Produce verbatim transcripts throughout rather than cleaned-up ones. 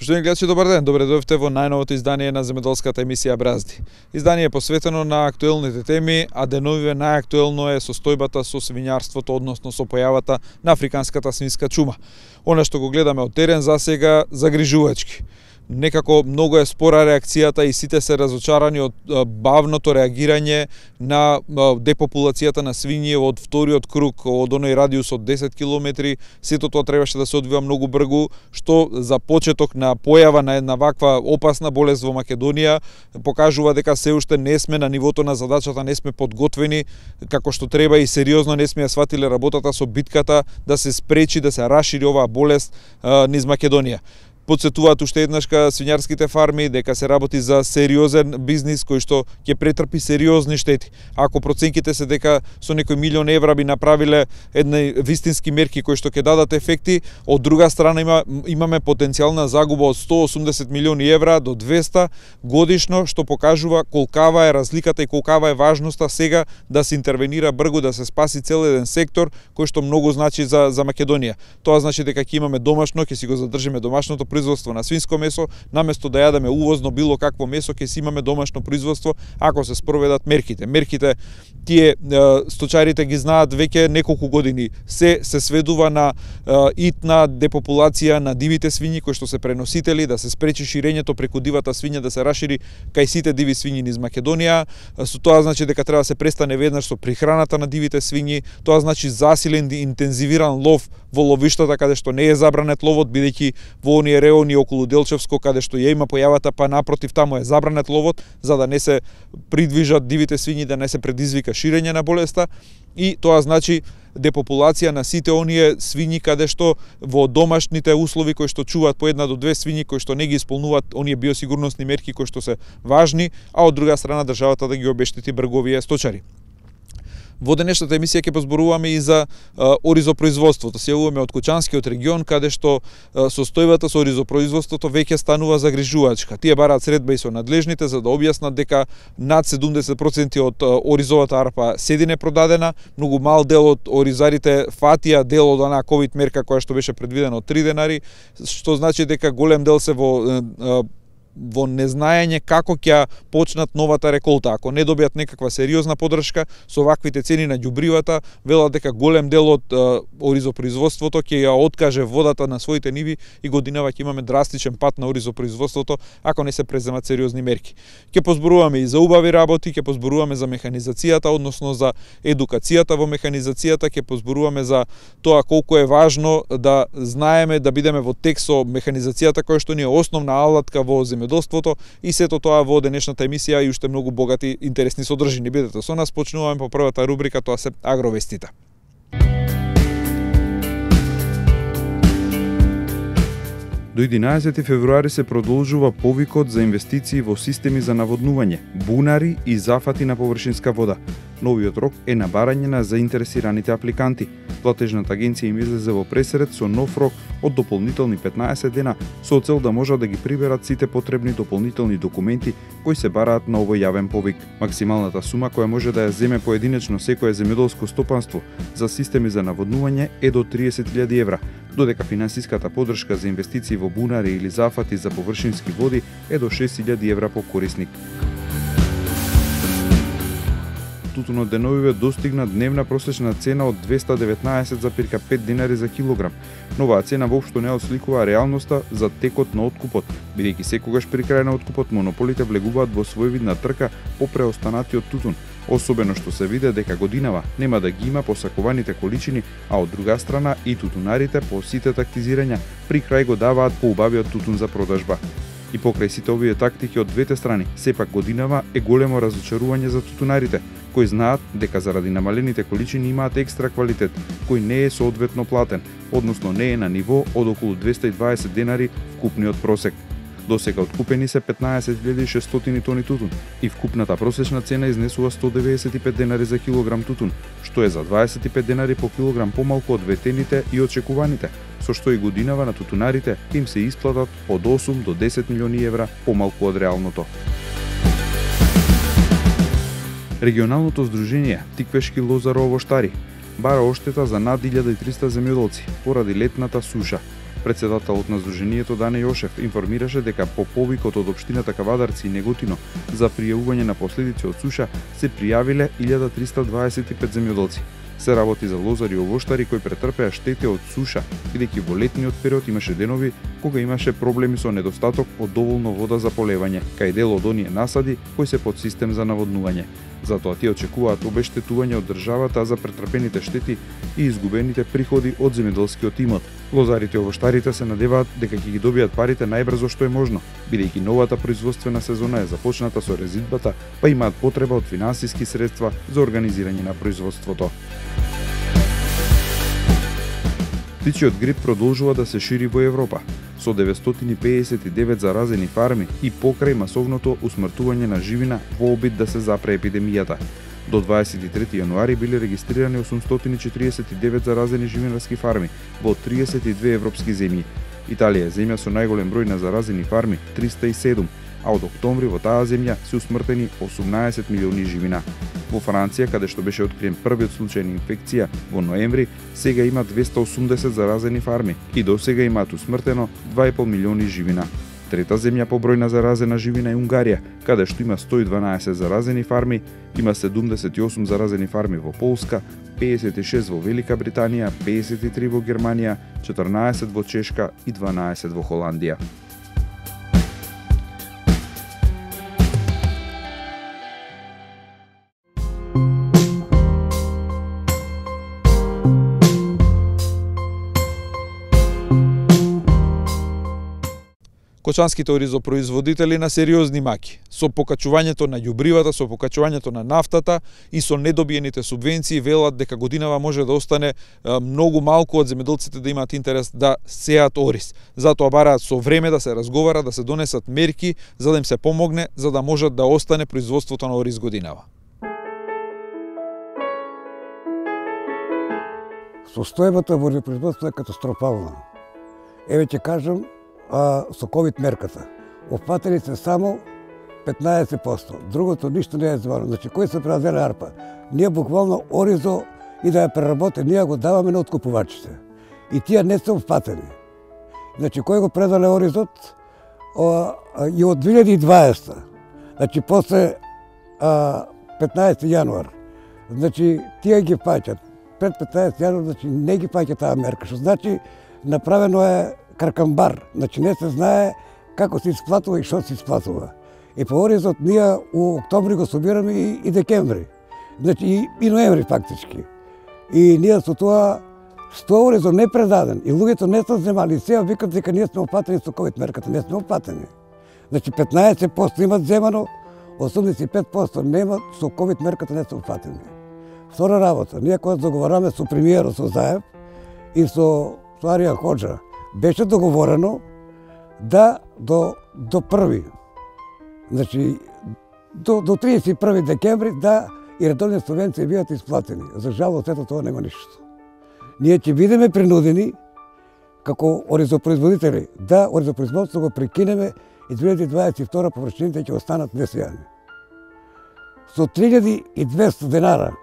Поштовани гледачи, добар ден. Добре дојдовте во најновото издание на земјоделската емисија Бразди. Издание е посветено на актуелните теми, а деновиве најактуелно е состојбата со свињарството, односно со појавата на африканската свинска чума. Она што го гледаме од терен засега загрижувачки. Некако многу е спора реакцијата и сите се разочарани од бавното реагирање на депопулацијата на свињи од вториот круг, од оној радиус од десет километри. Сето тоа требаше да се одвива многу брзо, што за почеток на појава на една ваква опасна болест во Македонија покажува дека се уште не сме на нивото на задачата, не сме подготвени како што треба и сериозно не сме ја сватиле работата со битката да се спречи да се рашири оваа болест низ Македонија. Подсетуваат уште еднашка свињарските фарми дека се работи за сериозен бизнис кој што ќе претрпи сериозни штети. Ако проценките се дека со некој милион евра би направиле едни вистински мерки кои што ќе дадат ефекти, од друга страна има, имаме потенцијална загуба од сто и осумдесет милиони евра до двесте годишно, што покажува колкава е разликата и колкава е важноста сега да се интервенира брзо, да се спаси цел еден сектор кој што многу значи за, за Македонија. Тоа значи дека ќе имаме домашно, ќе си го задржиме домашното производство на свинско месо, наместо да јадеме увозно било какво месо, ќе си имаме домашно производство ако се спроведат мерките. Мерките тие сточарите ги знаат веќе неколку години. Се се сведува на итна депопулација на дивите свињи кои што се преносители, да се спречи ширењето преку дивата свиња, да се рашири кај сите диви свињи низ Македонија. Со тоа значи дека треба да се престане веднаш со прихраната на дивите свињи. Тоа значи засилен и интензивиран лов во ловиштата каде што не е забранет ловот, бидејќи во оние реони околу Делчевско каде што ја има појавата, па напротив таму е забранет ловот за да не се придвижат дивите свињи, да не се предизвика ширење на болеста, и тоа значи депопулација на сите оние свињи каде што во домашните услови кои што чуваат по една до две свињи кои што не ги исполнуваат оние биосигурносни мерки кои што се важни, а од друга страна државата да ги обештети брговие сточари. Во денешната емисија ќе позборуваме и за а, оризопроизводството. Се јавуваме од Кучанскиот регион, каде што а, состојбата со оризопроизводството веќе станува загрижувачка. Тие бараат средба и со надлежните за да објаснат дека над седумдесет проценти од а, оризовата арпа седи непродадена, многу мал дел од оризарите фатија дел од онаа ковид мерка која што беше предвидена од три денари, што значи дека голем дел се во а, во незнаење како ќе почнат новата реколта. Ако не добијат некаква сериозна поддршка со ваквите цени на ѓубривата, велат дека голем дел од а, оризопроизводството ќе ја откаже водата на своите ниви и годинава ќе имаме драстичен пат на оризопроизводството ако не се преземат сериозни мерки. Ќе позборуваме и за убави работи, ќе позборуваме за механизацијата, односно за едукацијата во механизацијата, ќе позборуваме за тоа колку е важно да знаеме да бидеме во тек со механизацијата која што ни е основна алатка во земјоделството, и сето тоа во денешната емисија и уште многу богати интересни содржини. Бидете со нас, почнуваме по првата рубрика, тоа се агровестите. До единаесети февруари се продолжува повикот за инвестиции во системи за наводнување, бунари и зафати на површинска вода. Новиот рок е на барање на заинтересираните апликанти. Платежната агенција им излезе во пресред со нов рок од дополнителни петнаесет дена со цел да можат да ги приберат сите потребни дополнителни документи кои се бараат на овој јавен повик. Максималната сума која може да ја земе поединечно секое земјоделско стопанство за системи за наводнување е до триесет илјади евра, додека финансиската поддршка за инвестиции во бунари или зафати за површински води е до шест илјади евра по корисник. Тутунот деновиве достигна дневна просечна цена од двесте деветнаесет зарем пет динари за килограм. Новаа цена воопшто не осликува реалноста за текот на откупот, бидејќи секогаш при крај на откупот монополите влегуваат во своевидна трка по преостанатиот тутун, особено што се виде дека годинава нема да ги има посакуваните количини, а од друга страна и тутунарите по сите тактизирања при крај го даваат поубавиот тутун за продажба. И покрај сите овие тактики од двете страни, сепак годинава е големо разочарување за тутунарите, кои знаат дека заради намалените количини имаат екстра квалитет, кој не е соодветно платен, односно не е на ниво од околу двесте и дваесет денари вкупниот просек. Досега откупени се петнаесет илјади и шестстотини тони тутун и вкупната просечна цена изнесува сто деветдесет и пет денари за килограм тутун, што е за дваесет и пет денари по килограм помалку од ветените и очекуваните, со што и годинава на тутунарите им се исплатат од осум до десет милиони евра помалку од реалното. Регионалното здружение Тиквешки лозаро-овоштари бара оштета за над илјада и триста земјоделци поради летната суша. Председателот на Сдруженијето Дане Јошев информираше дека по повикот од општината Кавадарци и Неготино за пријавување на последици од суша се пријавиле илјада триста дваесет и пет земјоделци. Се работи за лозари и овоштари кои претрпеа штети од суша, бидејќи во летниот период имаше денови кога имаше проблеми со недостаток од доволно вода за полевање, кај дел од оние насади кои се под систем за наводнување. Затоа тие очекуваат обештетување од државата за претрпените штети и изгубените приходи од земјоделскиот имот. Лозарите и овоштарите се надеваат дека ќе ги добијат парите најбрзо што е можно, бидејќи новата производствена сезона е започната со резидбата, па имаат потреба од финансиски средства за организирање на производството. Птичиот грип продолжува да се шири во Европа, со деветстотини педесет и девет заразени фарми и покрај масовното усмртување на живина во обид да се запре епидемијата. До дваесет и трети јануари биле регистрирани осумстотини четиридесет и девет заразени живинарски фарми во триесет и две европски земји. Италија е земја со најголем број на заразени фарми, триста и седум, а од октомври во таа земја се усмртени осумнаесет милиони живина. Во Франција, каде што беше откриен првиот случај на инфекција во ноември, сега има двеста осумдесет заразени фарми и до сега имаат усмртено два и пол милиони живина. Трета земја по број на заразена живина е Унгарија, каде што има сто и дванаесет заразени фарми, има седумдесет и осум заразени фарми во Полска, педесет и шест во Велика Британија, педесет и три во Германија, четрнаесет во Чешка и дванаесет во Холандија. Кочанските оризопроизводители на сериозни маки, со покачувањето на ѓубривата, со покачувањето на нафтата и со недобиените субвенции велат дека годинава може да остане многу малку од земјоделците да имаат интерес да сеат ориз. Затоа бараат со време да се разговара, да се донесат мерки за да им се помогне, за да можат да остане производството на ориз годинава. Состојбата во оризопроизводството е катастрофална. Еве ќе кажам, а, со ковид мерката. Опфатени се само петнаесет проценти. Другото ништо не е звано. Значи, кој се преразделе арпа? Ние буквално оризо и да ја преработи, ние го даваме на откупувачите. И тие не се опфатени. Значи, кој го предаде оризот о, и од две илјади и дваесета. Значи, после а, петнаесети јануар. Значи, тие ги фаќат. Пред петнаесети јануар, значи, не ги фаќа таа мерка. Што значи, направено е каркамбар, значи не се знае како се исплатува и што се исплатува. И по оризот ние у октомври го собираме и, и декември, значи и, и ноември фактички. И ние со тоа сто оризот не предаден и луѓето не се земали. Сега викат дека ние сме опатени со ковид мерката, не сме опатени. Значи петнаесет проценти имат земано, осумдесет и пет проценти немат, со ковид мерката не се опатени. Втора работа, ние кога договараме со премиерот со Заев и со, со Арија Ходжа, беше договорено да до до први, значи до до триесет и први декември да и редовни субвенции бидат исплатени. За жалост ето тоа нема ништо. Ние ќе бидеме принудени како оризопроизводители да оризопроизводството го прекинеме и две илјади дваесет и втора површините ќе останат несејани. Со три илјади и двесте денара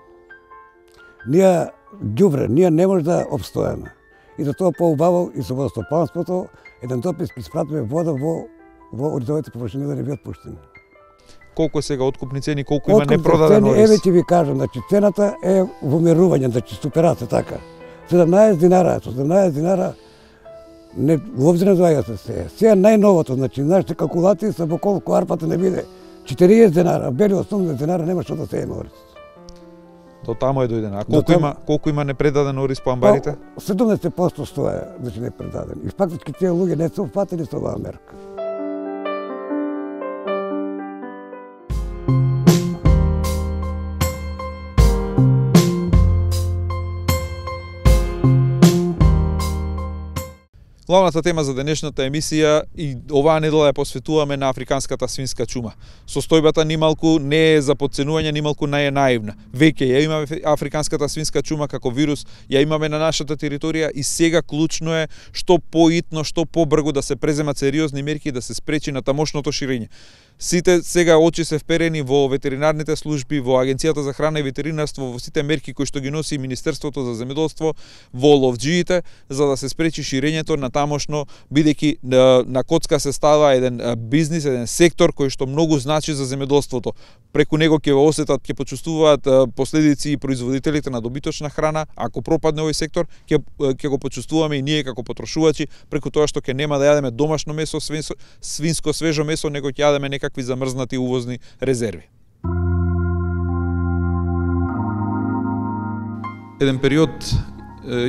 ние ѓубре, ние не може да обстоеме. И за тоа поубаво и со водостопанството еден допис испратиме вода во во оризовите површини да не бидат пуштени. Колку е сега откупни цени, колку има непродаден ориз? Еве ќе ви кажам, значи цената е во мерување, значи суперате така. седумнаесет динара, седумнаесет динара не уопšte не доаѓа се. Сега најновото, значи нашите калкулации се во колку арпата не биде четириесет динара, бели осумдесет динара нема што да се има ориз. До тамо е дојдено. А колку има колку има непредаден ориз по амбарите? седумдесет проценти стоја, значи непредаден. И фактички тие луѓе не се опфатени со оваа мерка. Главната тема за денешната емисија и оваа недела ја посветуваме на африканската свинска чума. Состојбата нималку не е за подценување, нималку не е наивна. Веќе ја имаме африканската свинска чума како вирус, ја имаме на нашата територија и сега клучно е што поитно, што побрзо да се преземат сериозни мерки да се спречи на тамошното ширење. Сите сега очи се вперени во ветеринарните служби, во Агенцијата за храна и ветеринарство, во сите мерки кои што ги носи Министерството за земјоделство, во ловџиите, за да се спречи ширењето на тамошно, бидејќи на коцка се става еден бизнис, еден сектор кој што многу значи за земјоделството. Преку него ќе го осетат, ќе почувствуваат последици и производителите на добиточна храна. Ако пропадне овој сектор, ќе ќе го почувствуваме и ние како потрошувачи, преку тоа што ќе нема да јадеме домашно месо, свинско, свинско свежо месо, него ќе јадеме некакви замрзнати увозни резерви. Еден период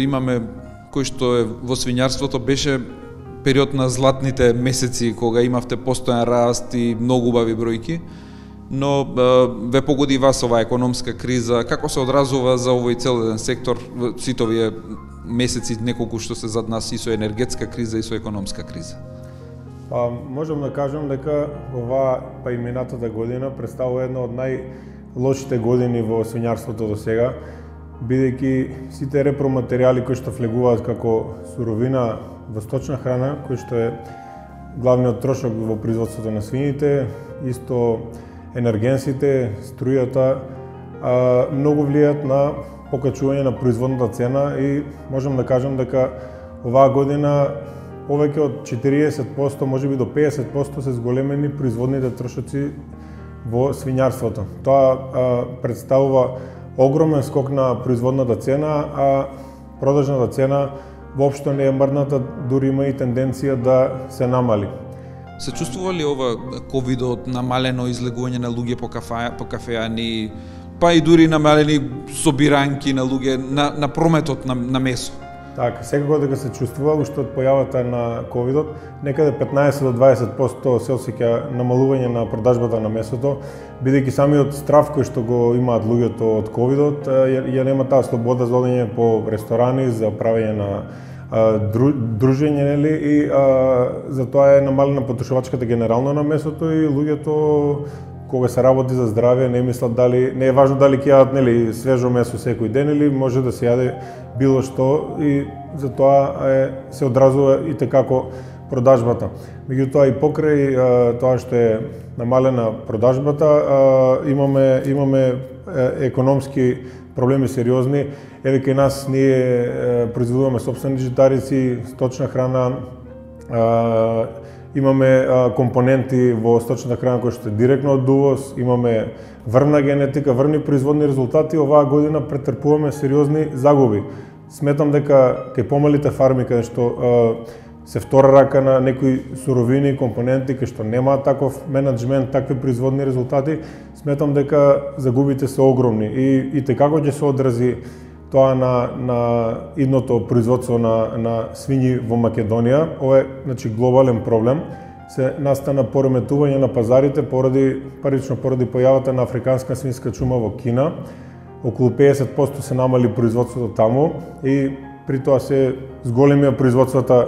имаме кој што е во свињарството, беше период на златните месеци, кога имавте постојан раст и многу убави бројки, но ве погоди вас оваа економска криза. Како се одразува за овој цел еден сектор сите овие месеци, неколку што се зад нас, и со енергетска криза и со економска криза? Па, можам да кажам дека оваа па и минатата година представува една од најлошите години во свињарството до сега, бидејќи сите репроматеријали кои што влегуваат како суровина во сточна храна, кој што е главниот трошок во производството на свините, исто енергенсите, струјата, а, многу влијаат на покачување на производната цена и можам да кажам дека оваа година повеќе од четириесет проценти, можеби до педесет проценти се зголемени производните трошоци во свињарството. Тоа а, представува огромен скок на производната цена, а продажната цена воопшто не е мрдната, дури има и тенденција да се намали. Се чувствува ли ова ковидот, намалено излегување на луѓе по кафеа, по кафеани, па и дури намалени собиранки на луѓе на, на прометот на, на месо? Така, секако дека се чувствува, уште од појавата на ковидот, некаде петнаесет до дваесет проценти се осеќа намалување на продажбата на месото, бидејќи самиот страв кој што го имаат луѓето од ковидот, ја, ја нема таа слобода за одење по ресторани, за правење на а, дру, дружење, нели, и а, затоа е намалена потрошувачката генерално на месото и луѓето кога се работи за здравје не мислат дали, не е важно дали ќе јадат, нели, свежо месо секој ден или може да се јаде било што, и затоа е, се одразува и tekako продажбата. Меѓутоа и покрај а, тоа што е намалена продажбата, а, имаме имаме е, економски проблеми сериозни. Еве кај нас ние е, произведуваме сопствени житарици, сточна храна, а, имаме а, компоненти во сточната храна кои што е директно од увоз, имаме врна генетика, врни производни резултати. Оваа година претрпуваме сериозни загуби. Сметам дека кај помалите фарми каде што а, се втора рака на некои суровини, компоненти кај што немаат таков менеджмент, такви производни резултати, сметам дека загубите се огромни и и tekako ќе се одрази тоа на на идното производство на на свињи во Македонија. Ова е, значи, глобален проблем. Се настана пореметување на пазарите поради парично поради појавата на африканска свинска чума во Кина. Околу педесет проценти се намали производството таму и при тоа се зголемија производствата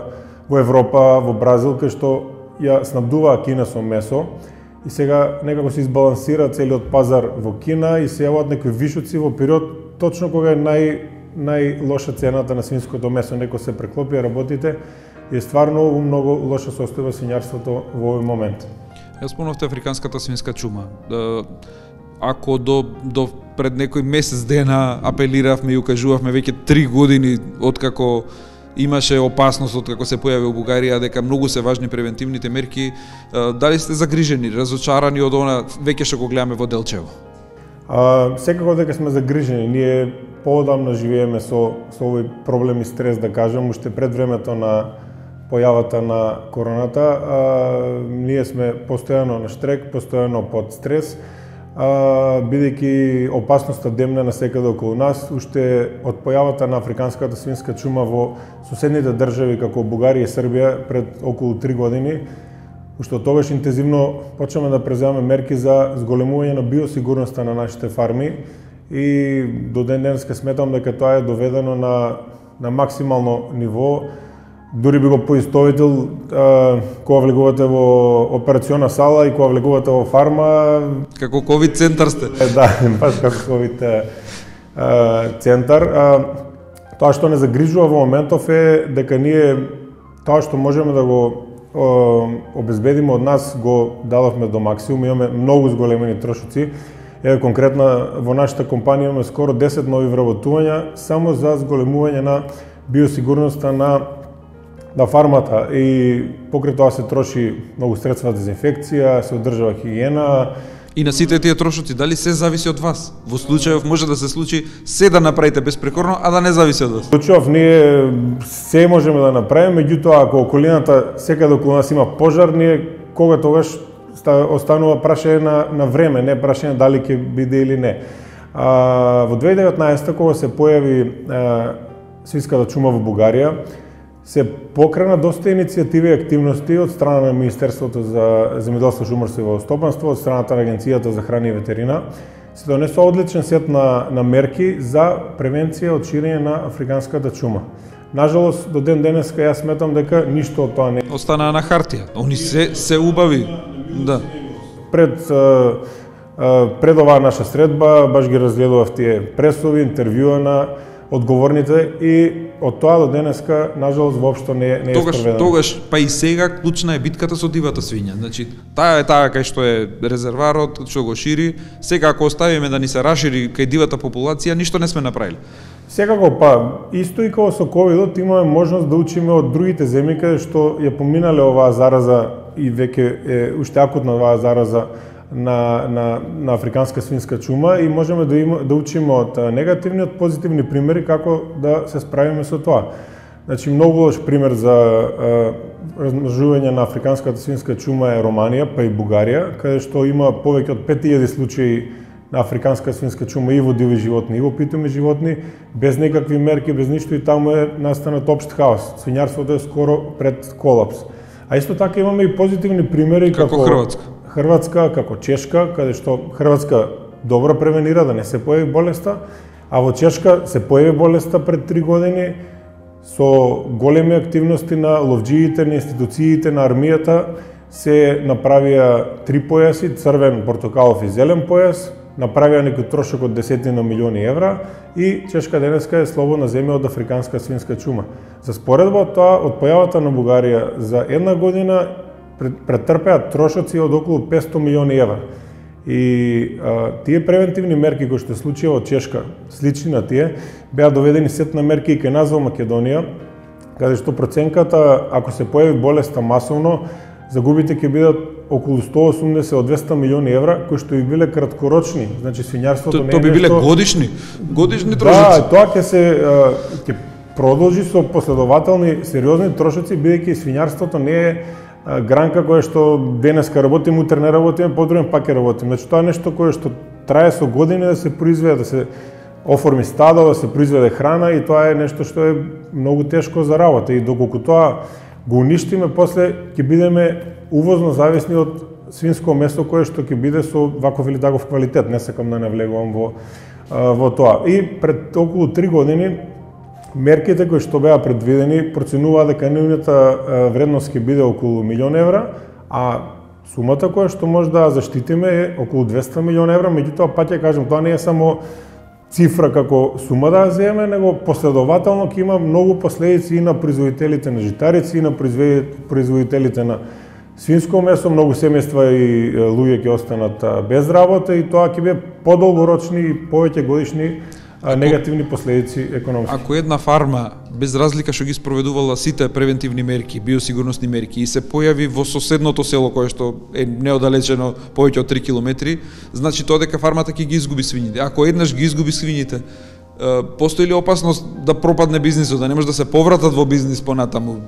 во Европа, во Бразил, кај што ја снабдуваа Кина со месо и сега некако се избалансира целиот пазар во Кина и се јавуваат некои вишоци во период точно кога е нај најлоша цената на свинското месо. Некој се преклопија работите и е стварно у многу лоша состојба свињарството во овој момент. Ја спомнавте африканската свинска чума. Ако до до пред некој месец дена апелиравме и укажувавме веќе три години откако имаше опасност од како се појави во Бугарија дека многу се важни превентивните мерки, дали сте загрижени, разочарани од она веќе што го гледаме во Делчево? А, секако дека сме загрижени. Ние поодамна живееме со со овој проблем и стрес, да кажам, уште пред времето на појавата на короната. А, ние сме постојано на штрек, постојано под стрес, а, бидејќи опасноста демне насекаде околу нас. Уште од појавата на африканската свинска чума во соседните држави како Бугарија и Србија пред околу три години, уште од тогаш интензивно почнеме да преземаме мерки за зголемување на биосигурноста на нашите фарми и до ден денеска сметам дека тоа е доведено на на максимално ниво. Дури би го поистовител а, кога влегувате во операциона сала и кога влегувате во фарма. Како ковид центар сте. Да, баш како ковид центар. А, тоа што не загрижува во моментов е дека ние тоа што можеме да го обезбедиме од нас го дадовме до максимум, имаме многу зголемени трошоци. Еве конкретно во нашата компанија имаме скоро десет нови вработувања само за зголемување на биосигурноста на на фармата и покрај тоа се троши многу средства за дезинфекција, се одржава хигиена. И на сите тие трошоци, дали се зависи од вас? Во случајов може да се случи се да направите безпрекорно, а да не зависи од вас. Во случајов ние се можеме да направиме, меѓутоа ако околината секаде околу нас има пожар, ние кога тогаш останува прашање на, на време, не прашање дали ќе биде или не. А, во две илјади и деветнаесета кога се појави а, свинската чума во Бугарија, се покрена доста иницијативи и активности од страна на Министерството за земјоделство, шумарство и водостопанство, од страната на Агенцијата за храна и ветерина, се донесува одличен сет на, на мерки за превенција од ширење на африканската чума. Нажалост, до ден денеска јас сметам дека ништо од тоа не останаа на хартија. Они се се убави. Да. Пред а, а, пред оваа наша средба баш ги разгледував тие пресови, интервјуа на одговорните и од тоа до денеска нажалост воопшто не не е тогаш, спроведено. Тогаш па и сега клучна е битката со дивата свиња. Значи, таа е таа кај што е резерварот, што го шири. Сега ако оставиме да ни се расшири кај дивата популација, ништо не сме направиле. Секако па, исто и како со ковидот имаме можност да учиме од другите земји каде што ја поминале оваа зараза и веќе е уште акутна оваа зараза на, на, на африканска свинска чума и можеме да, има, да учиме од негативни, од позитивни примери како да се справиме со тоа. Значи, многу лош пример за а, размножување на африканската свинска чума е Романија, па и Бугарија, каде што има повеќе од пет илјади случаи на африканска свинска чума и во диви животни, и во питоми животни, без никакви мерки, без ништо и таму е настанат општ хаос. Свињарството е скоро пред колапс. А исто така имаме и позитивни примери како, како Хрватска. Хрватска, како Чешка, каде што Хрватска добро превенира да не се појави болеста, а во Чешка се појави болеста пред три години со големи активности на ловџиите, на институциите, на армијата, се направија три појаси, црвен, портокалов и зелен појас, направија некој трошок од десетина милиони евра и Чешка денеска е слободна земја од африканска свинска чума. За споредба од тоа, од појавата на Бугарија за една година претрпеа трошоци од околу петстотини милиони евра. И а, тие превентивни мерки кои што се случија во Чешка, слични на тие, беа доведени сет на мерки и кај нас во Македонија, каде што проценката, ако се појави болеста масовно, загубите ќе бидат околу сто и осумдесет до двесте милиони евра, кои што би биле краткорочни. Значи свињарството не е тоа би биле нешто... годишни, годишни трошоци. Да, тоа ќе се ќе продолжи со последователни сериозни трошоци, бидејќи свињарството не е гранка која што денеска работиме, утре не работиме, подруен пак ќе работиме. Значи тоа е нешто кое што трае со години да се произведе, да се оформи стадо, да се произведе храна и тоа е нешто што е многу тешко за работа и доколку тоа го уништиме, после ќе бидеме увозно зависни од свинско месо кое што ќе биде со ваков или таков квалитет. Не сакам да навлегувам во во тоа. И пред околу три години мерките кои што беа предвидени проценуваа дека нивната вредност ќе биде околу милион евра, а сумата која што може да заштитиме е околу двесте милиони евра, меѓутоа пак ќе кажам, тоа не е само цифра како сума да ја земе, него последователно ќе има многу последици и на производителите на житарици, и на производителите на свинско месо, многу семејства и луѓе ќе останат без работа и тоа ќе биде подолгорочни и повеќе годишни Ако, негативни последици економски. Ако една фарма, без разлика што ги спроведувала сите превентивни мерки, биосигурносни мерки, и се појави во соседното село кое што е неодалечено повеќе од три километри, значи тоа дека фармата ќе ги изгуби свињите. Ако еднаш ги изгуби свињите, постои ли опасност да пропадне бизнисот, да не може да се повратат во бизнис понатаму?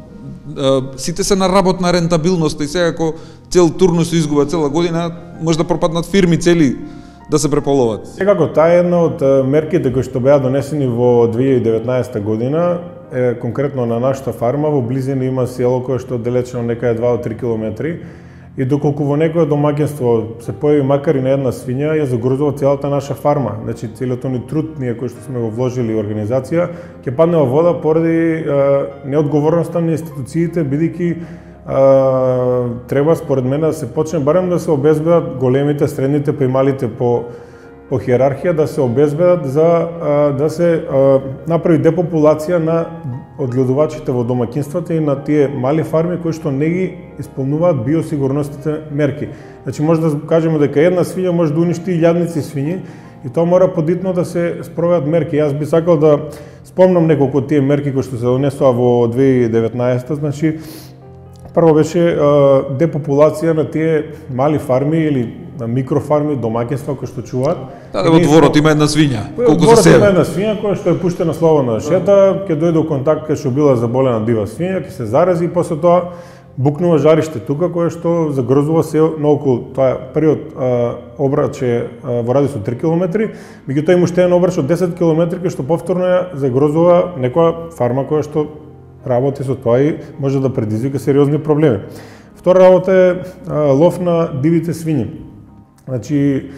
Сите се на работна рентабилност и сега ако цел турнус се изгуба цела година, може да пропаднат фирми цели да се преполоват. Секако, таа е една од мерките кои што беа донесени во две илјади и деветнаесета година, е конкретно на нашата фарма, во близина има село кое што е далечено некаде два до три километри и доколку во некое домаќинство се појави макар и на една свиња, ја загрозува целата наша фарма. Значи, целиот ни труд ние кој што сме го вложили во организација, ќе падне во вода поради неодговорноста на институциите, бидејќи Uh, треба според мене да се почне барем да се обезбедат големите, средните па и малите по по хиерархија да се обезбедат за а, да се а, направи депопулација на одгледувачите во домаќинствата и на тие мали фарми кои што не ги исполнуваат биосигурностите мерки. Значи може да кажеме дека една свиња може да уништи илјадници свињи и тоа мора подитно да се спроведат мерки. Јас би сакал да спомнам неколку од тие мерки кои што се донесоа во две илјади и деветнаесетта, значи прво беше а, депопулација на тие мали фарми или на микрофарми, домаќинства кои што чуваат. Да, да, во дворот има една свиња. Колку се себе? Има една свиња која што е пуштена слободно да шета, ќе дојде во контакт кај што била заболена дива свиња, ќе се зарази и после тоа букнува жариште тука кое што загрозува се наоколу. Тоа е првиот обрач е во радиус од три километри, меѓутоа има уште еден обрач од десет километри кој што повторно ја загрозува некоја фарма која што работи со тоа и може да предизвика сериозни проблеми. Втора работа е а, лов на дивите свињи. Значи,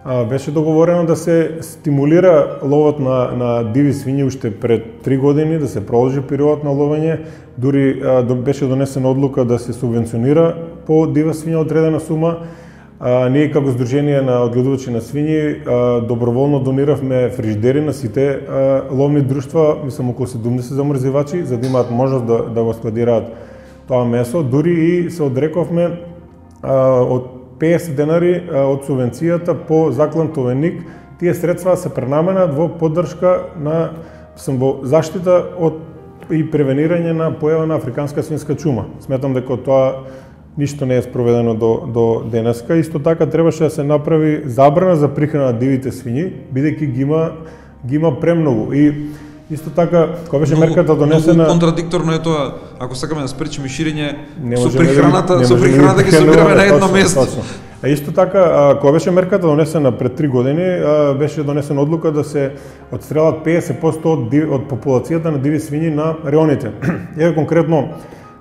а, беше договорено да се стимулира ловот на, на диви свињи уште пред три години, да се продолжи период на ловење, дури а, беше донесена одлука да се субвенционира по дива свиња одредена сума. А, ние како Сдружение на одгледувачи на свињи а, доброволно дониравме фрижидери на сите а, ловни друштва, мислам околу седумдесет замрзивачи, за да имаат можност да, да го складираат тоа месо. Дури и се одрековме а, од песет денари а, од субвенцијата по заклан товеник. Тие средства се пренаменат во поддршка на мислам, во заштита од и превенирање на појава на африканска свинска чума. Сметам дека тоа ништо не е спроведено до, до денеска. Исто така требаше да се направи забрана за прихрана на дивите свињи, бидејќи ги има, ги има премногу. И исто така, кога беше много, мерката донесена... Многу контрадикторно е тоа, ако сакаме да спречиме ширење, со да прихраната, да, со прихраната ги собираме на едно место. Точно. А исто така, кога беше мерката донесена пред три години, беше донесена одлука да се отстрелат песет проценти од, див, од популацијата на диви свињи на реоните. Еве конкретно,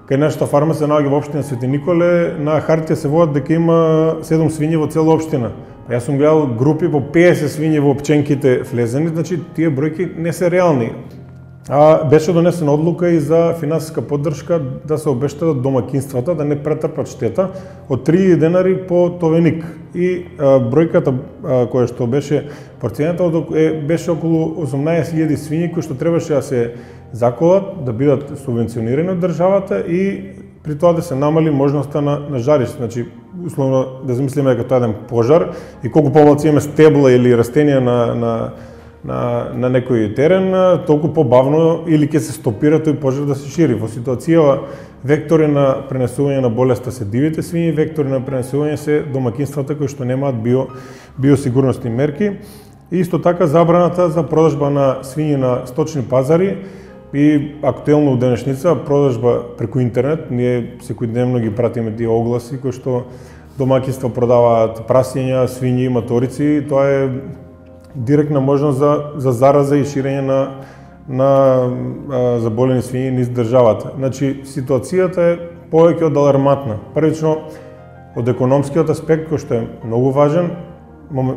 кај нашата фарма се наоѓа во општина Свети Николе, на хартија се водат дека има седум свињи во цела општина. Јас сум гледал групи по песет свињи во пченките влезени, значи тие бројки не се реални. А беше донесена одлука и за финансиска поддршка да се обештадат домаќинствата да не претрпат штета од три илјади денари по товеник. И а, бројката а, која што беше процената е беше околу осумнаесет илјади свињи кои што требаше да се заколат, да бидат субвенционирани од државата и при тоа да се намали можноста на, на жариште. Значи, условно да замислиме дека тоа е еден пожар и колку повалци имаме стебла или растенија на, на, на, на некој терен, толку побавно или ќе се стопира тој пожар да се шири. Во ситуација вектори на пренесување на болеста се дивите свињи, вектори на пренесување се домаќинствата кои што немаат био, биосигурностни мерки. И исто така забраната за продажба на свињи на сточни пазари и актуелно у денешница продажба преку интернет. Ние секојдневно ги пратиме тие огласи кои што домаќинства продаваат прасиња, свињи, маторици. Тоа е директна можност за, за зараза и ширење на, на а, заболени свињи низ државата. Значи, ситуацијата е повеќе од алармантна. Првично, од економскиот аспект, кој што е многу важен,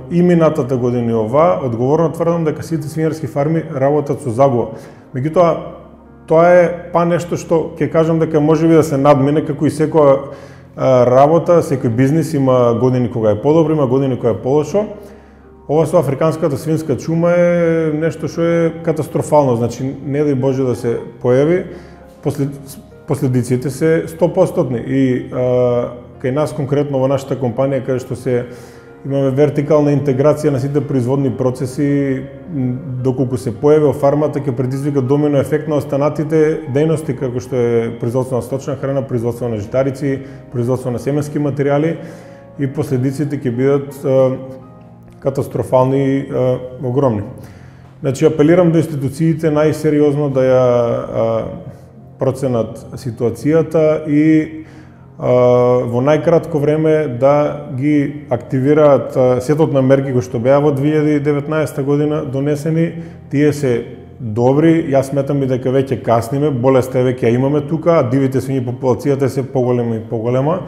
и минатата година и ова, одговорно тврдам дека сите свинарски фарми работат со загуба. Меѓутоа, тоа е па нешто што ќе кажам дека можеби да се надмине, како и секоја работа, секој бизнис има години кога е подобро, има години кога е полошо. Ова со африканската свинска чума е нешто што е катастрофално, значи не дај Боже да се појави, послед, последиците се сто проценти. И а, кај нас конкретно во нашата компанија, каде што се имаме вертикална интеграција на сите производни процеси, доколку се појави во фармата, ќе предизвика домино ефект на останатите дејности, како што е производство на сточна храна, производство на житарици, производство на семенски материјали, и последиците ќе бидат а, катастрофални и а, огромни. Значи, апелирам до институциите најсериозно да ја а, проценат ситуацијата и во најкратко време да ги активираат сетот на мерки кои што беа во две илјади и деветнаесетта година донесени. Тие се добри, јас сметам и дека веќе касниме, болеста веќе ја имаме тука, а дивите свињи популацијата е се поголема и поголема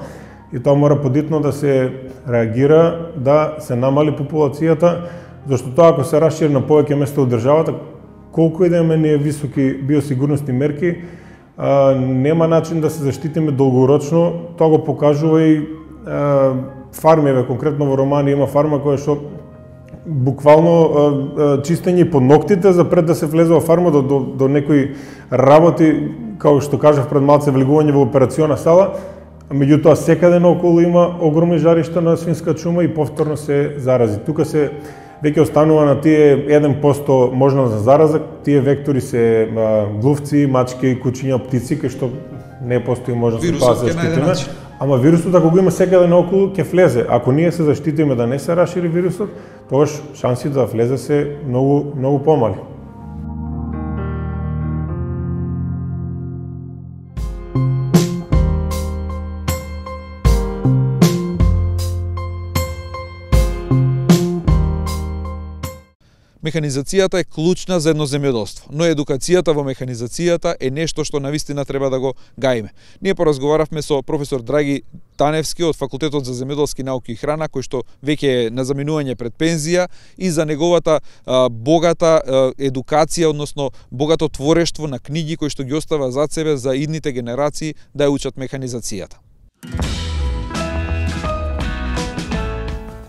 и тоа мора подитно да се реагира, да се намали популацијата, зашто тоа ако се расшири на повеќе места од државата, колку и да имаме ние високи биосигурностни мерки, А, нема начин да се заштитиме долгорочно. Тоа го покажува и а, фармиве, конкретно во Романија има фарма која што буквално чистење под ноктите за пред да се влезе во фарма до, до, до некои работи, како што кажав пред малце, влегување во операциона сала, меѓутоа секаде наоколу има огромни жаришта на свинска чума и повторно се зарази. Тука се веќе останува на тие еден процент можност за зараза, тие вектори се глувци, мачки, кучиња, птици, кај што не постои можност да се заштитиме. Ама вирусот, ако го има секаде наоколу, ќе влезе. Ако ние се заштитиме да не се рашири вирусот, тогаш шансите да влезе се многу, многу помали. Механизацијата е клучна за едно земјоделство, но едукацијата во механизацијата е нешто што навистина треба да го гаиме. Ние поразговаравме со професор Драги Таневски од Факултетот за земјоделски науки и храна, кој што веќе е на заминување пред пензија, и за неговата а, богата а, едукација, односно богато творештво на книги кои што ги остава зад себе за идните генерации да ја учат механизацијата.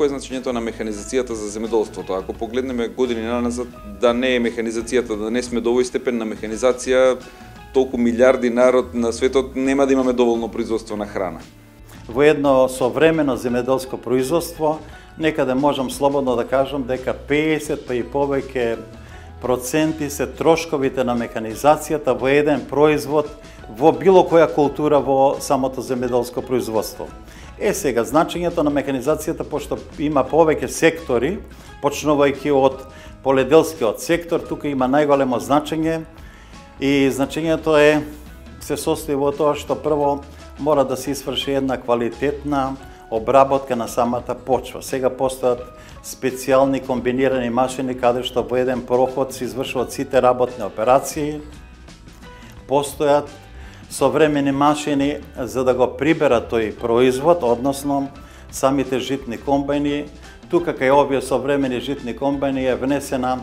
Кој е значењето на механизацијата за земјоделството? Ако погледнеме години наназад, да не е механизацијата, да не сме до овој степен на механизација, толку милиарди народ на светот, нема да имаме доволно производство на храна. Во едно современо земјоделско производство, некаде можам слободно да кажам дека педесет па и повеќе проценти се трошковите на механизацијата во еден производ во било која култура во самото земјоделско производство. Е сега, значењето на механизацијата, пошто има повеќе сектори, почнувајќи од поледелскиот сектор, тука има најголемо значење и значењето е, се состои во тоа што прво мора да се изврши една квалитетна обработка на самата почва. Сега постојат специјални комбинирани машини каде што во еден проход се извршуваат сите работни операции, постојат современи машини за да го приберат тој производ, односно самите житни комбајни. Тука кај овие современи житни комбајни е внесена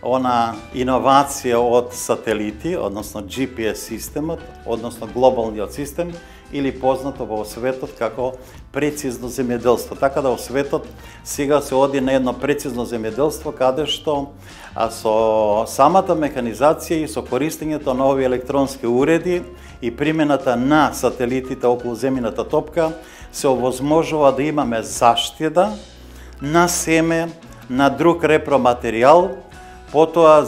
она иновација од сателити, односно Джи Пи Ес системот, односно глобалниот систем, или познато во светот како прецизно земјоделство. Така да во светот сега се оди на едно прецизно земјоделство каде што а со самата механизација и со користењето на овие електронски уреди и примената на сателитите околу земјината топка се овозможува да имаме заштеда на семе, на друг репроматеријал. Потоа,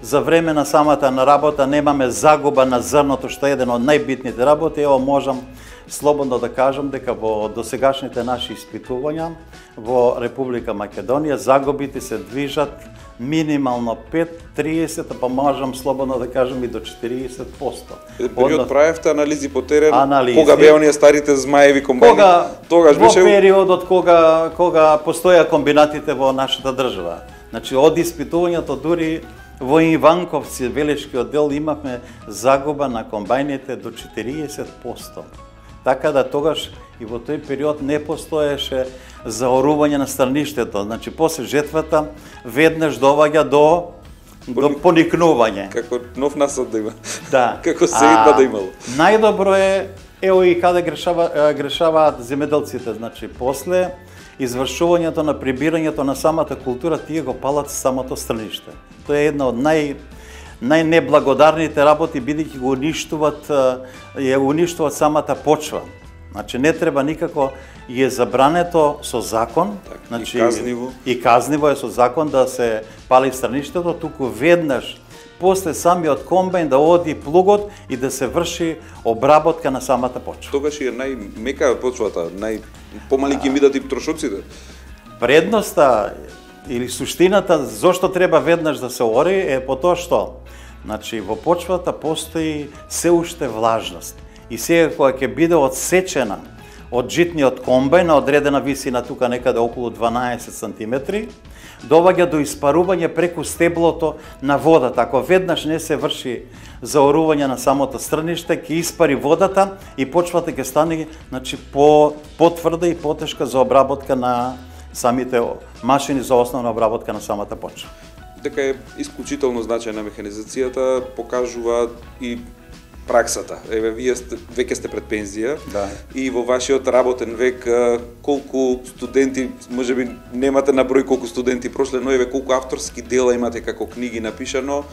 за време на самата наработа немаме загуба на зрното, што е еден од најбитните работи. Ево, можам слободно да кажам дека во досегашните наши испитувања во Република Македонија загубите се движат минимално пет, триесет, па можам слободно да кажам и до четириесет проценти. Период правевте анализи по терен, анализи. Кога беа оние старите змаеви комбајни? Кога, Тогаш во беше периодот кога кога постоја комбинатите во нашата држава. Значи, од испитувањето дури во Иванковци, Велешкиот дел, имавме загуба на комбајните до четириесет проценти. Така да тогаш и во тој период не постоеше заорување на страништето. Значи, после жетвата веднаш доваѓа до до поникнување. Како нов насад да има. Да. Како седба да имало. Најдобро е, ево и каде грешава, грешаваат земјоделците. Значи, после извршувањето на прибирањето на самата култура, тие го палат самото страниште. Тоа е една од нај најнеблагодарните работи, бидејќи го уништуваат, ја уништуваат самата почва. Значи не треба никако, и е забрането со закон, так, значи и казниво. И казниво е со закон да се пали страништето, туку веднаш после самиот комбајн да оди плугот и да се врши обработка на самата почва. Тогаш е најмека почвата, најпомали ќе бидат и трошоците. Предноста или суштината зошто треба веднаш да се ори е по тоа што, значи во почвата постои се уште влажност. И сега кога ќе биде одсечена од житниот комбајн на одредена висина, тука некаде околу дванаесет сантиметри, доваѓа до испарување преку стеблото на водата. Ако веднаш не се врши заорување на самото стрниште, ќе испари водата и почвата ќе стане, значи, по потврда и потешка за обработка на самите машини за основна обработка на самата почва. Дека е исклучително значајна механизацијата, покажува и праксата. Еве, вие сте, веќе сте пред пензија, Да. и во вашиот работен век колку студенти, можеби немате на број колку студенти прошле, но еве колку авторски дела имате како книги напишано,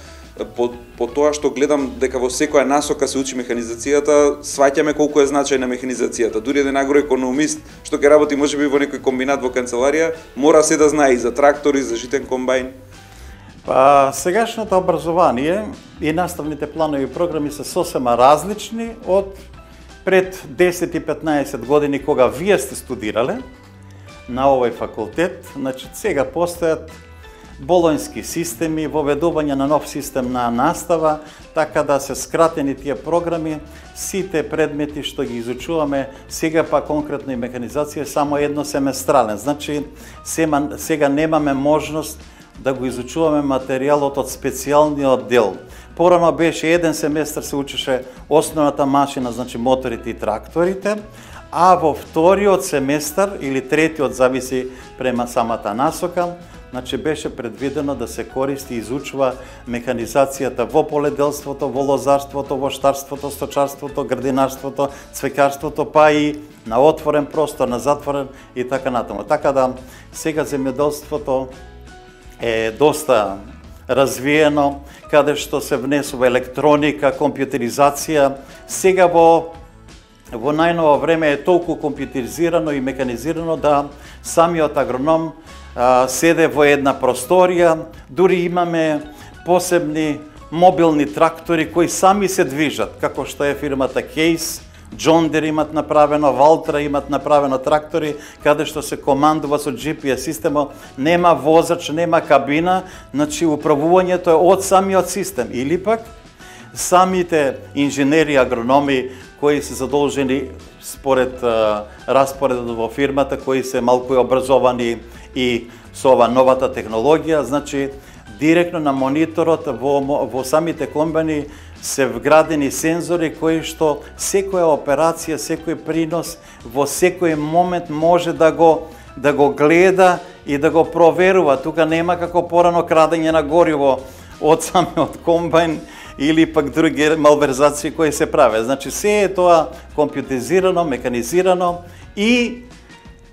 по, по тоа што гледам дека во секоја насока се учи механизацијата, сваќаме колку е значајна механизацијата. Дури еден агроекономист што ќе работи можеби во некој комбинат во канцеларија, мора се да знае и за трактори, за житен комбајн. Па, сегашното образование и наставните планови и програми се сосема различни од пред десет и петнаесет години кога вие сте студирале на овој факултет. Значи, сега постојат болонски системи, воведување на нов систем на настава, така да се скратени тие програми, сите предмети што ги изучуваме, сега па конкретно и механизација, само едносеместрален. Значи, сега немаме можност да го изучуваме материјалот од специјалниот дел. Порано беше еден семестар се учеше основната машина, значи моторите и тракторите, а во вториот семестар или третиот, зависи према самата насока, значи беше предвидено да се користи и изучува механизацијата во поледелството, во лозарството, во штарството, сточарството, градинарството, цвекарството, па и на отворен простор, на затворен и така натаму. Така да сега земјоделството е доста развиено, каде што се внесува електроника, компјутеризација. Сега во во најново време е толку компјутеризирано и механизирано да самиот агроном а, седе во една просторија, дури имаме посебни мобилни трактори кои сами се движат, како што е фирмата Case, John Deere имат направено, Valtra имат направено трактори, каде што се командува со Джи Пи Ес система, нема возач, нема кабина, значи управувањето е од самиот систем. Или пак самите инженери, агрономи кои се задолжени според а, распоредот во фирмата, кои се малку образовани и со ова новата технологија, значи директно на мониторот во, во самите комбани се вградени сензори кои што секоја операција, секој принос во секој момент може да го да го гледа и да го проверува. Тука нема како порано крадење на гориво од самиот комбајн или пак други малверзации кои се прават. Значи се е тоа компјутеризирано, механизирано и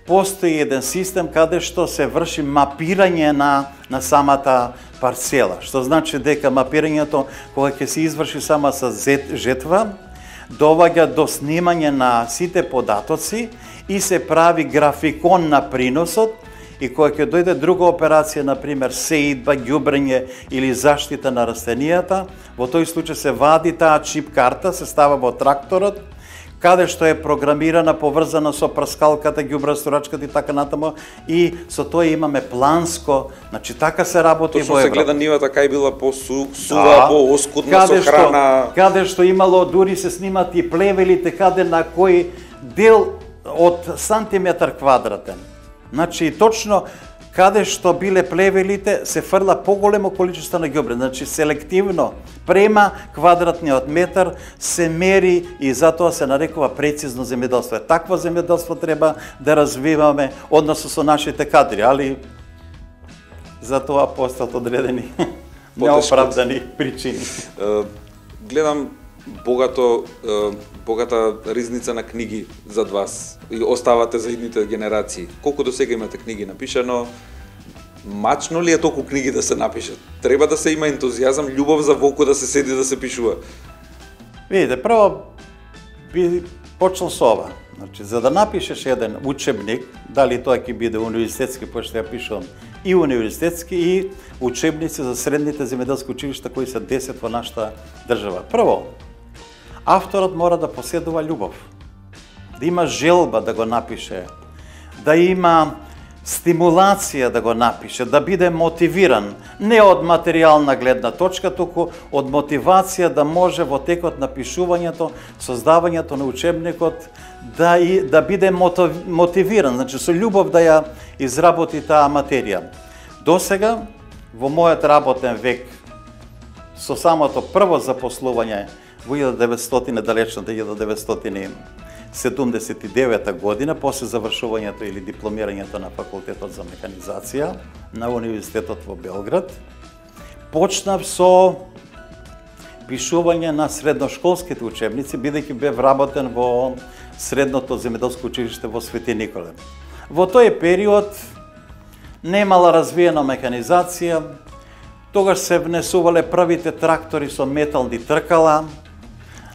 постои еден систем каде што се врши мапирање на на самата парцела, што значи дека мапирањето кога ќе се изврши сама со жетва, доваѓа до снимање на сите податоци и се прави графикон на приносот, и кога ќе дојде друга операција, на пример сеидба, ѓубрење или заштита на растенијата, во тој случај се вади таа чип карта, се става во тракторот, каде што е програмирана, поврзана со прскалката, ѓубресторачката и така натаму, и со тоа имаме планско, значи така се работи Точно во се Европа. гледа нивата кај била по-сува, Да. по-оскудна со Каде што, храна. каде што имало, дури се снимат и плевелите, каде на кој дел од сантиметар квадратен. Значи точно каде што биле плевелите се фрла поголемо количество на ѓубре, значи селективно према квадратниот метар се мери и затоа се нарекува прецизно земјоделство. Такво земјоделство треба да развиваме односно со нашите кадри, али за тоа постојат одредени неоправдани причини. Е, гледам богато е, богата ризница на книги зад вас и оставате за идните генерации. Колку до сега имате книги напишано? Мачно ли е толку книги да се напишат? Треба да се има ентузијазам, љубов за волку да се седи да се пишува. Видите, прво би почнал со ова. Значи, за да напишеш еден учебник, дали тоа ќе биде универзитетски, пошто ја пишувам и универзитетски, и учебници за средните земјоделски училишта кои се десет во нашата држава. Прво, авторот мора да поседува љубов, да има желба да го напише, да има стимулација да го напише, да биде мотивиран, не од материјална гледна точка, туку од мотивација да може во текот на пишувањето, создавањето на учебникот, да, и, да биде мотивиран, значи со љубов да ја изработи таа материја. Досега, во мојот работен век, со самото прво запослување во илјада деветстотини, далечната илјада деветстотини седумдесет и девета година, после завршувањето или дипломирањето на факултетот за механизација на Универзитетот во Белград, почнав со пишување на средношколските учебници, бидејќи бев работен во средното земјоделско училиште во Свети Николе. Во тој период немала развиена механизација, тогаш се внесувале првите трактори со метални тркала,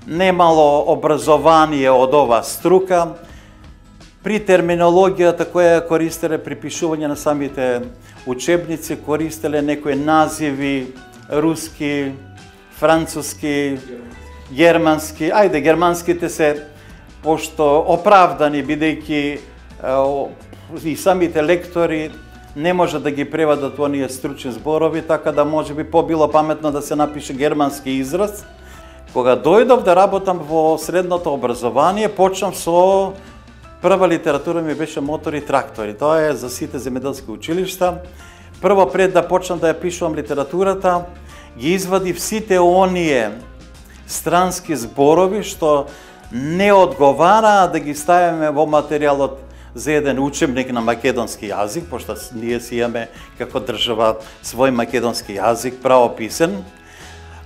немало образование од оваа струка. При терминологијата која ја користеле при пишување на самите учебници, користеле некои називи руски, француски, германски. Ајде, германските се пошто оправдани, бидејќи и самите лектори не може да ги преведат оние стручни зборови, така да може би побило паметно да се напише германски израз. Кога дојдов да работам во средното образование, почнав со прва литература ми беше мотори и трактори. Тоа е за сите земјоделски училишта. Прво пред да почнам да ја пишувам литературата, ги извадив сите оние странски зборови што не одговараа да ги ставиме во материјалот за еден учебник на македонски јазик, пошто ние си имаме како држава свој македонски јазик, правописен,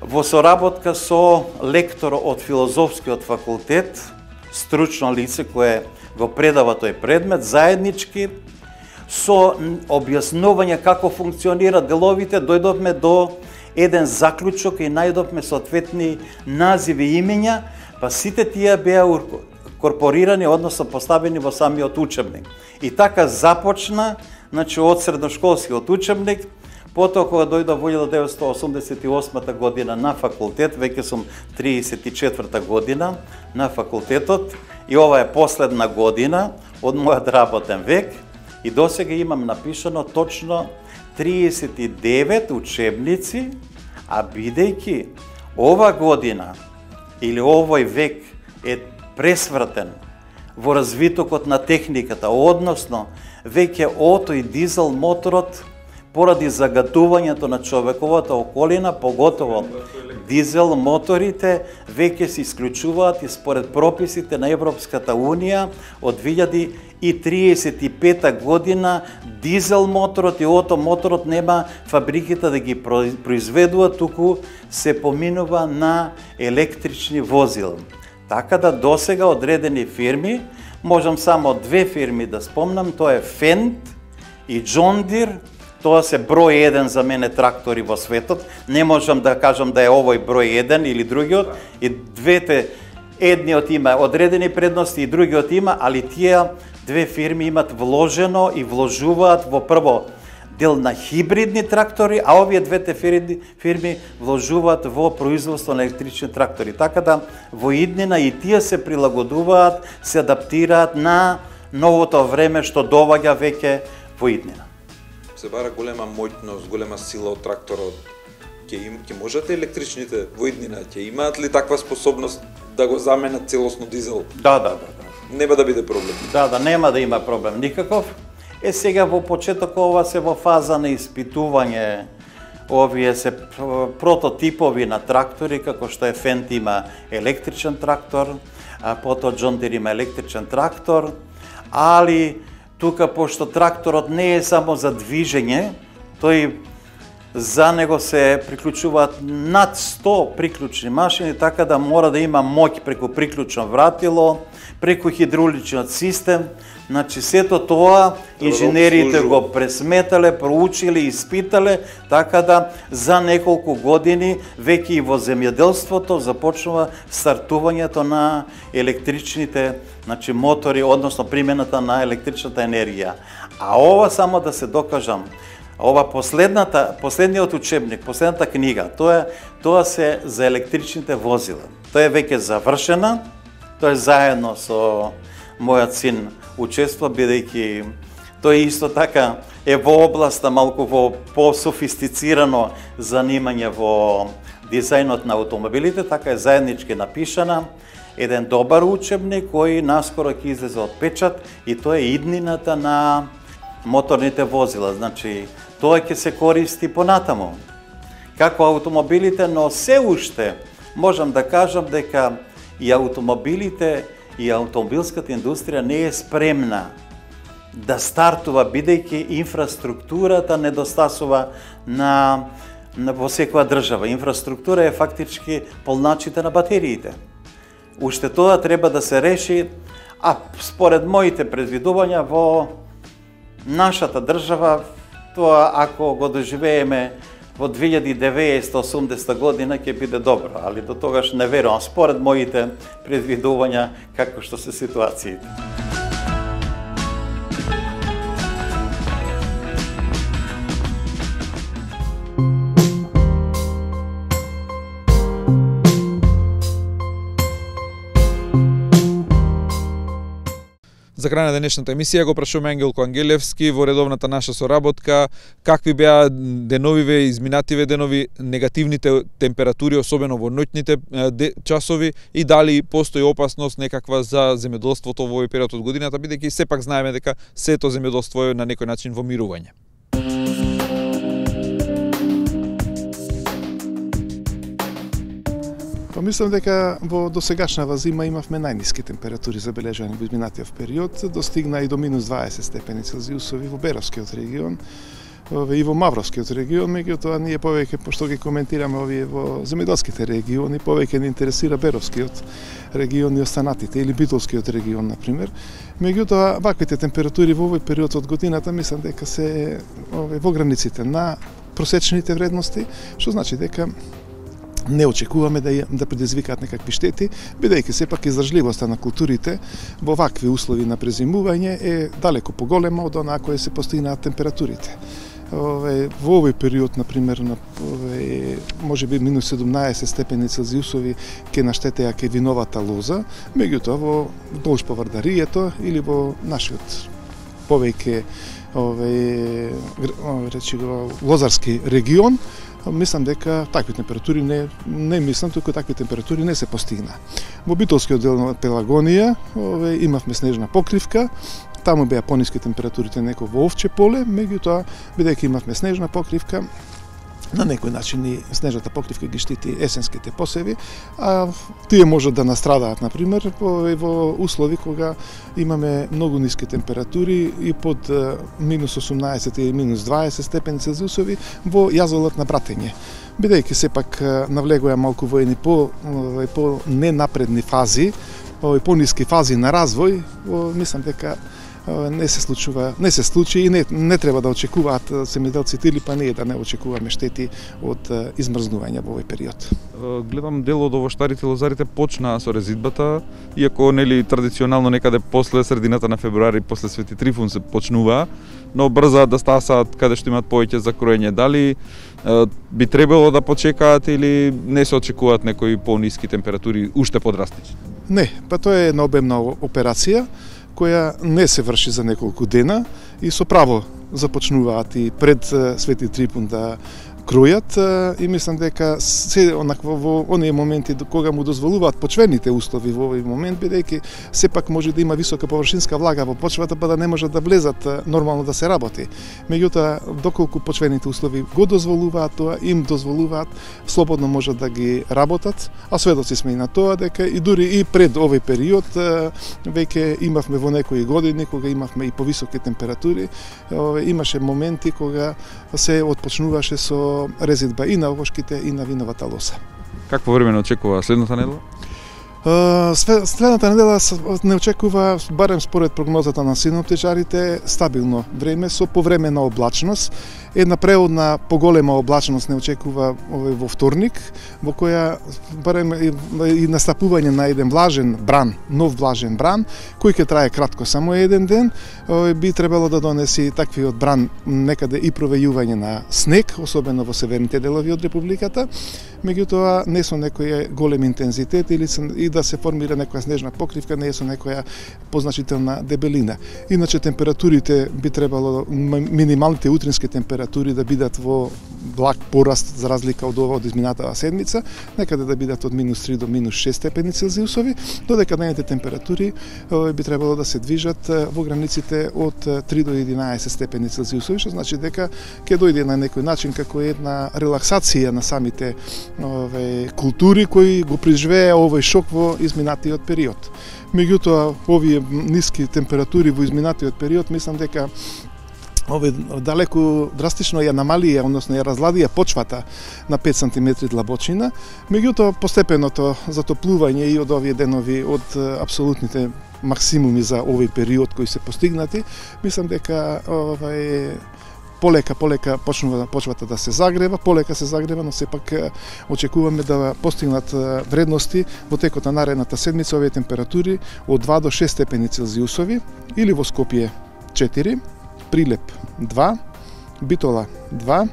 во соработка со лектор од филозофскиот факултет, стручно лице кое го предава тој предмет, заеднички, со објаснување како функционираат деловите, дојдовме до еден заклучок и најдовме соодветни називи и имења, па сите тие беа корпорирани, односно поставени во самиот учебник. И така започна, значи од средношколскиот учебник, потоа кога дојдов во илјада деветстотини осумдесет и осма година на факултет, веќе сум триесет и четврта година на факултетот, и ова е последна година од мојот работен век, и досега имам напишано точно триесет и девет учебници, а бидејќи ова година или овој век е пресвртен во развитокот на техниката, односно веќе ото и дизел моторот поради загадувањето на човековата околина, поготово дизел моторите веќе се исклучуваат и според прописите на Европската Унија од две илјади и триесет и пета година дизел моторот и ото моторот нема фабриките да ги произведуваат, туку се поминува на електрични возила. Така да досега одредени фирми, можам само две фирми да спомнам, тоа е Фенд и Джон Дир. Тоа се број еден за мене трактори во светот. Не можам да кажам да е овој број еден или другиот. И двете, едниот има одредени предности и другиот има, али тие две фирми имат вложено и вложуваат во прво дел на хибридни трактори, а овие двете фирми, фирми вложуваат во производство на електрични трактори. Така да во иднина и тие се прилагодуваат, се адаптираат на новото време што доаѓа веќе во иднина. Се бара голема моќност, голема сила од тракторот. Ќе им ќе можат електричните во иднина, ќе имаат ли таква способност да го заменат целосно дизел? Да, да, да, да. Нема да биде проблем. Да, да, нема да има проблем никаков. Е сега во почеток ова се во фаза на испитување, овие се прототипови на трактори, како што е Фенд има електричен трактор, а потоа Джон Дир има електричен трактор, али тука, пошто тракторот не е само за движење, тој за него се приклучуваат над сто приклучни машини, така да мора да има моќ преку приклучно вратило, преку хидравличниот систем. Значи, сето тоа инженерите го пресметале, проучиле, испитале, така да за неколку години веќе и во земјоделството започнува стартувањето на електричните, значи, мотори, односно примената на електричната енергија. А ова, само да се докажам, ова последната, последниот учебник, последната книга, тоа, тоа се за електричните возила. Тоа е веќе завршена, тоа е заедно со мојот син учества, бидејќи тој исто така е во областа малку во по-софистицирано занимање во дизајнот на автомобилите, така е заеднички напишана, еден добар учебник кој наскоро ќе излезе од печат, и тоа е иднината на моторните возила. Значи, тоа ќе се користи понатаму како автомобилите, но се уште можам да кажам дека и автомобилите и автомобилската индустрија не е спремна да стартува, бидејќи инфраструктурата недостасува на во секоја држава. Инфраструктура е фактички полначите на батериите. Уште тоа треба да се реши, а според моите предвидувања во нашата држава, тоа ако го доживееме во две илјади и деветстотини и осумдесета година ќе биде добро, али до тогаш не верувам според моите предвидувања како што се ситуациите. За крај на денешната емисија го прашуваме Ангелко Ангелевски во редовната наша соработка какви беа деновиве, изминативе денови, негативните температури, особено во ноќните часови, и дали постои опасност некаква за земјоделството во овој период од годината, бидејќи сепак знаеме дека сето земјоделство е на некој начин во мирување. Па мислам дека во досегашната зима имавме најниски температури забележани во изминатиот период, достигна и до минус дваесет степени Целзиусови во Беровскиот регион и во Мавровскиот регион, меѓутоа ние повеќе, пошто ги коментираме овие во земјоделските региони, повеќе не интересира Беровскиот регион и останатите, или Битолскиот регион, например. Меѓутоа, ваквите температури во овој период од годината мислам дека се ове, во границите на просечните вредности, што значи дека не очекуваме да, да предизвикаат некакви штети, бидејќи сепак издржливоста на културите во вакви услови на презимување е далеко поголема од онаа која се постигнаат температурите. Ове, во овој период, например, на ове, може би минус седумнаесет степени Целзиусови ке наштетеа ке виновата лоза, меѓутоа во долж поврдарието или во нашиот повеќе ове, речи го, лозарски регион, мислам дека такви температури не не мислам туку такви температури не се постигна. Во Битолскиот дел на Пелагонија ове, имавме снежна покривка, таму беа пониски температурите неко во Овче поле, меѓутоа бидејќи имавме снежна покривка, на некој начин и снежната покривка ги штити есенските посеви, а тие можат да настрадаат, например, во, во услови кога имаме многу ниски температури и под минус осумнаесет и минус дваесет степени Целзиусови во јазолот на Братење. Бидејќи сепак навлегоја малку во едни по, по ненапредни фази, по ниски фази на развој, мислам дека не се случува, не се случи и не, не треба да очекуваат земјоделците или па ние да не очекуваме штети од измрзнување во овој период. Гледам дел од овоштарите лозарите почнаа со резидбата, иако нели традиционално некаде после средината на февруари, после Свети Трифун се почнува, но брзаат да стасаат каде што имаат повеќе за кроење. Дали е, би требало да почекаат или не се очекуваат некои пониски температури уште подрастични? Не, па тоа е една обемна операција која не се врши за неколку дена и со право започнуваат и пред Свети Трифун да кројат и мислам дека се онакво во оние моменти кога му дозволуваат почвените услови во овој момент, бидејќи сепак може да има висока површинска влага во почвата, па да не можат да влезат нормално да се работи. Меѓутоа, доколку почвените услови го дозволуваат тоа, им дозволуваат, слободно можат да ги работат, а сведоци сме и на тоа дека и дури и пред овој период веќе имавме во некои години кога имавме и повисоки температури, имаше моменти кога се отпочнуваше со резидба и на овошките и на виновата лоза. Какво време не очекува следната недела? Следната недела не очекува, барем според прогнозата на синоптичарите, стабилно време со повремена облачност. Една преодна поголема облачност не очекува во вторник, во која барем и настапување на еден влажен бран, нов влажен бран, кој ќе трае кратко, само еден ден, би требало да донеси таквиот бран некаде и провејување на снег, особено во северните делови од републиката, меѓутоа не со некој голем интензитет или и да се формира некоја снежна покривка, не е со некоја позначителна дебелина. Иначе температурите би требало, минималните утрински температури да бидат во благ пораст за разлика од ова од изминатава седмица, некаде да бидат од минус три до минус шест степени Целзиусови, додека дневните температури би требало да се движат во границите од три до единаесет степени Целзиусови, што значи дека ќе дојде на некој начин како една релаксација на самите ове култури кои го преживеа овој шок во изминатиот период. Меѓутоа, овие ниски температури во изминатиот период, мислам дека овој далеку драстично ја намалија, односно ја разладија почвата на пет сантиметри длабочина, меѓутоа постепеното затоплување и од овие денови од апсолутните максимуми за овој период кои се постигнати, мислам дека овај полека полека почнува почвата да се загрева, полека се загрева, но сепак очекуваме да постигнат вредности во текот на наредната седмица овие температури од два до шест степени Целзиусови, или во Скопје четири, Прилеп два, Битола два,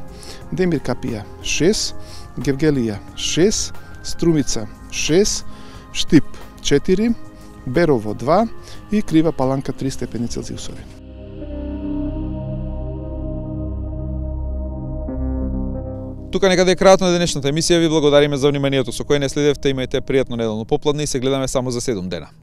Демир Капија шест, Гевгелија шест, Струмица шест, Штип четири, Берово два и Крива Паланка три степени Целзиусови. Тука некаде е крајот на денешната емисија. Ви благодариме за вниманието со кое не следевте. Имајте пријатно неделно попладне и се гледаме само за седум дена.